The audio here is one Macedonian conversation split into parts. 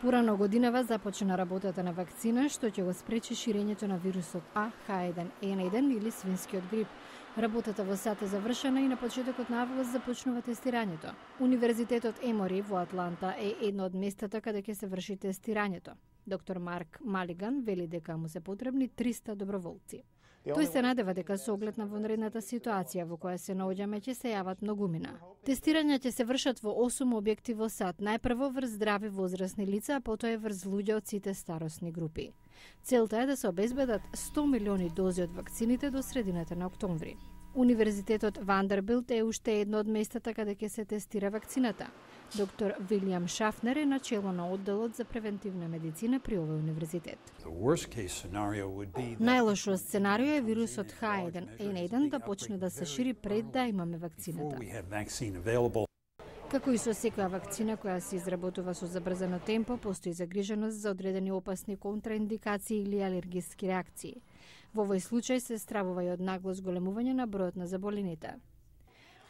Порано годинава започна работата на вакцина што ќе го спречи ширењето на вирусот H1N1 или свинскиот грип. Работата во САД е завршена и на почетокот на август започнува тестирањето. Универзитетот Емори во Атланта е едно од местата каде ќе се врши тестирањето. Доктор Марк Малиган вели дека му се потребни 300 доброволци. Тој се надева дека со оглед на вонредната ситуација во која се наоѓаме ќе се јават многумина. Тестирања ќе се вршат во 8 објекти во САД, најпрво врз здрави возрастни лица, а потоа и врз луѓе од сите старосни групи. Целта е да се обезбедат 100 милиони дози од вакцините до средината на октомври. Универзитетот Вандербилт е уште едно од местата каде ќе се тестира вакцината. Доктор Вилијам Шафнер е начело на одделот за превентивна медицина при овој универзитет. Најлошо сценарио е вирусот H1N1 да почне да се шири пред да имаме вакцината. Како и со секоја вакцина која се изработува со забрзано темпо, постои загриженост за одредени опасни контраиндикации или алергиски реакции. Во овој случај се стравува и од нагло зголемување на бројот на заболените.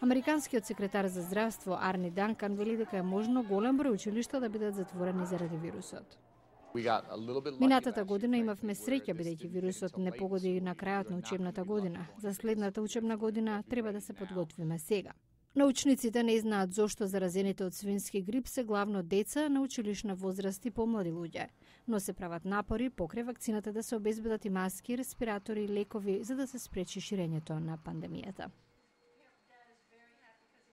Американскиот секретар за здравство Арни Данкан вели дека е можно голем број училишта да бидат затворени заради вирусот. Минатата година имавме среќа бидејќи вирусот не погоди на крајот на учебната година. За следната учебна година треба да се подготвиме сега. Научниците не знаат зошто заразените од свински грип се главно деца на училишна возраст и помлади луѓе, но се прават напори покрај вакцината да се обезбедат и маски, респиратори и лекови за да се спречи ширењето на пандемијата.